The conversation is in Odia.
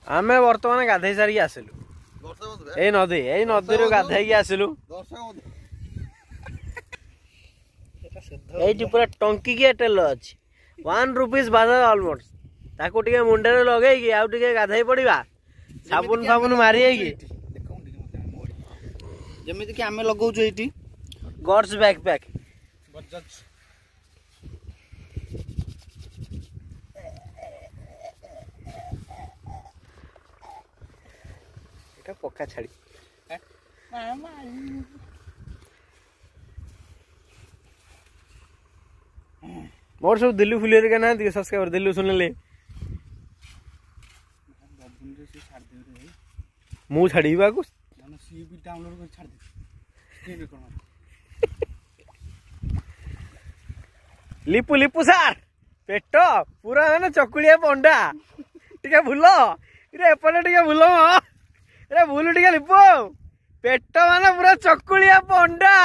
ଆମେ ବର୍ତ୍ତମାନ ଗାଧେଇ ସାରିକି ଆସିଲୁ ଏଇ ନଦୀ, ଏଇ ନଦୀରୁ ଗାଧେଇକି ଆସିଲୁ। ଏଇଠି ପୁରା ଟଙ୍କିକିଆ ତେଲ ଅଛି, 1 ରୁପିସ୍ ବାଜାଜ ଅଲମୋଷ୍ଟ। ତାକୁ ଟିକେ ମୁଣ୍ଡରେ ଲଗେଇକି ଆଉ ଟିକେ ଗାଧେଇ ପଡିବା, ସାବୁନ ଫାବୁନ ମାରି ହେଇକି। ଯେମିତିକି ଆମେ ଲଗାଉଛୁ ଏଇଠି ଗଡ୍ସ ବ୍ୟାକ୍ ପ୍ୟାକ୍। ଏଟା ପକ୍କା ଛାଡ଼ି ମୋର ସବୁ ଦିଲ୍ଲୀ ଫୁଲି ହେରିକା ନାହାନ୍ତି କି ସବସ୍କ୍ରାଇବର? ଦିଲ୍ଲୀ ଶୁଣିଲେ ମୁଁ ଛାଡ଼ିବି ଆକୁ। ଲିପୁ ଲିପୁ ସାର୍, ପେଟ ପୁରା ମାନେ ଚକୁଳିଆ ପଣ୍ଡା। ଟିକେ ଭୁଲ ରେ, ଏପଟେ ଟିକେ ଭୁଲ ରେ, ଭୁଲ ଟିକେ ଲିପୁ। ପେଟ ମାନେ ପୁରା ଚକୁଳିଆ ପଣ୍ଡା।